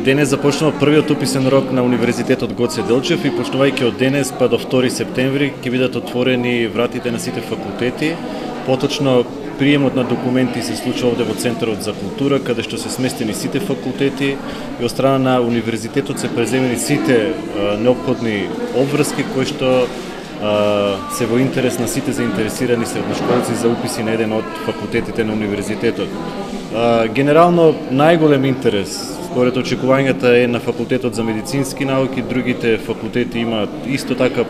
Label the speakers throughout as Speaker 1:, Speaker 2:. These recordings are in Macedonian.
Speaker 1: денес започнува првиот уписен рок на Универзитетот Гоце Делчев и почнувајќи од денес па до 2 септември ќе бидат отворени вратите на сите факултети. Поточно приемот на документи се случува овде во Центарот за култура, каде што се сместени сите факултети и од страна на Универзитетот се преземени сите неопходни обврски кои што се во интерес на сите заинтересирани средношколци за уписи на еден од факултетите на Универзитетот. Генерално најголем интерес според очекувањата е на Факултетот за медицински науки, другите факултети имаат исто така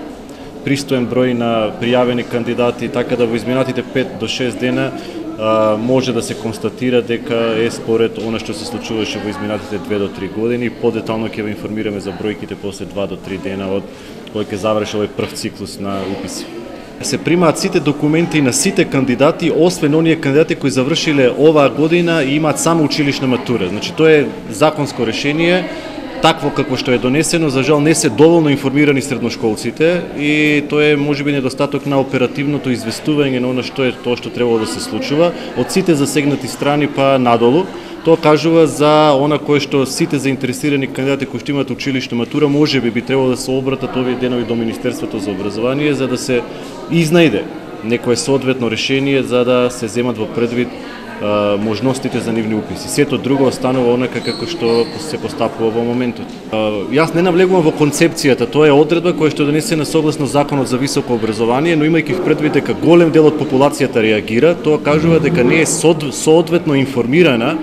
Speaker 1: пристоен број на пријавени кандидати, така да во изминатите 5 до 6 дена може да се констатира дека е според она што се случуваше во изминатите 2 до 3 години. Подетално ќе ве информираме за бројките после 2 до 3 дена од кој ќе заврши овој прв циклус на уписи. Се примаат сите документи на сите кандидати, освен оние кандидати кои завршиле оваа година и имаат само училишна матура. Значи тоа е законско решение, такво какво што е донесено, за жал не се доволно информирани средношколците и тоа е можеби недостаток на оперативното известување на она што е тоа што требало да се случува од сите засегнати страни па надолу. Тоа кажува за она кое што сите заинтересирани кандидати кои што имаат училишна матура можеби би требало да се обратат овие денови до Министерството за образование за да се изнајде некое соодветно решение за да се земат во предвид можностите за нивни уписи. Сето друго останува онака како што се постапува во моментот. Јас не навлегувам во концепцијата, тоа е одредба која што е донесена согласно Законот за високо образование, но имајќи в предвид дека голем дел од популацијата реагира, тоа кажува дека не е соодветно информирана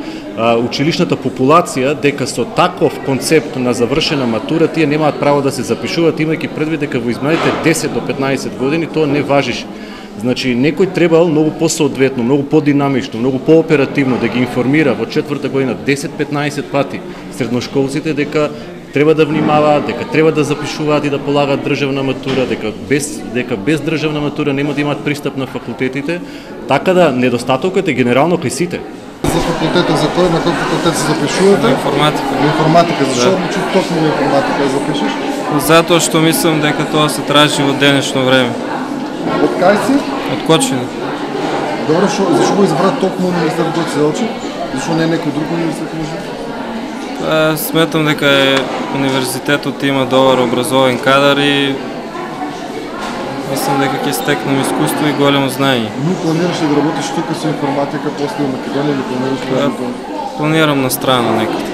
Speaker 1: училишната популација дека со таков концепт на завршена матура тие немаат право да се запишуваат, имајќи предвид дека во изминалите 10 до 15 години тоа не важише. Значи, некој требал многу посоодветно, многу подинамично, многу пооперативно да ги информира во четврта година 10-15 пати средношколците дека треба да внимаваат, дека треба да запишуваат и да полагаат државна матура, дека без државна матура нема да имаат пристап на факултетите, така да недостатокот е генерално кај сите.
Speaker 2: За факултета за кој, на кој факултет се запишувате?
Speaker 3: Информатика.
Speaker 2: Информатика, зашо одлучи токму на информатика да запишеш?
Speaker 3: Затоа што мислам дека тоа се тражи во денешно време.
Speaker 2: Од кај си?
Speaker 3: Од Кочина.
Speaker 2: Добро, зашо го избра токму Универзитетот Гоце Делчев? Зашо не некој друг универзитет може?
Speaker 3: Сметам дека универзитетот има добар образовен кадар и мислам дека ќе стекнам искуство и големо знаење.
Speaker 2: Но планираш ли да работиш тука со информатика после во Македонија или планираш да
Speaker 3: планирам на страна некаде.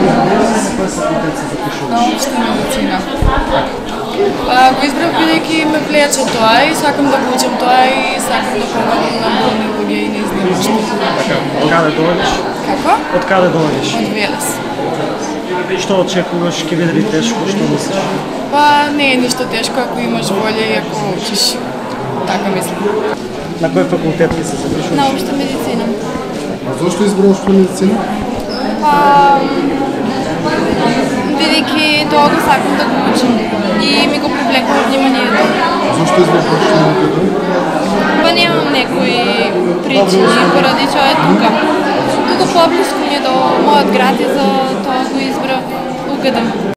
Speaker 2: На кој факултет се запишуваш?
Speaker 4: На општа медицина. Го избрав бидејќи ме влече тоа и сакам да го учам тоа и сакам да помагам на болни луѓе и неизнемошни.
Speaker 5: Од каде доаѓаш?
Speaker 4: Како?
Speaker 5: Од каде доаѓаш?
Speaker 4: Од Велес.
Speaker 5: Што очекуваш, ќе биде ли тешко, што мислиш?
Speaker 4: Па не е ништо тешко ако имаш волја и ако учиш. Така мислам.
Speaker 5: На кој факултет ќе се запишуваш?
Speaker 4: На општа медицина.
Speaker 2: А зошто избрав општа медицина?
Speaker 4: Па бидејќи тоа го сакам да го учам и ми го привлекува вниманието.
Speaker 2: Зошто избрав општа медицина?
Speaker 4: Па немам некои причини поради тоа е тука. Тука поблиску ми е до мојот град и за тоа го избрав УГД.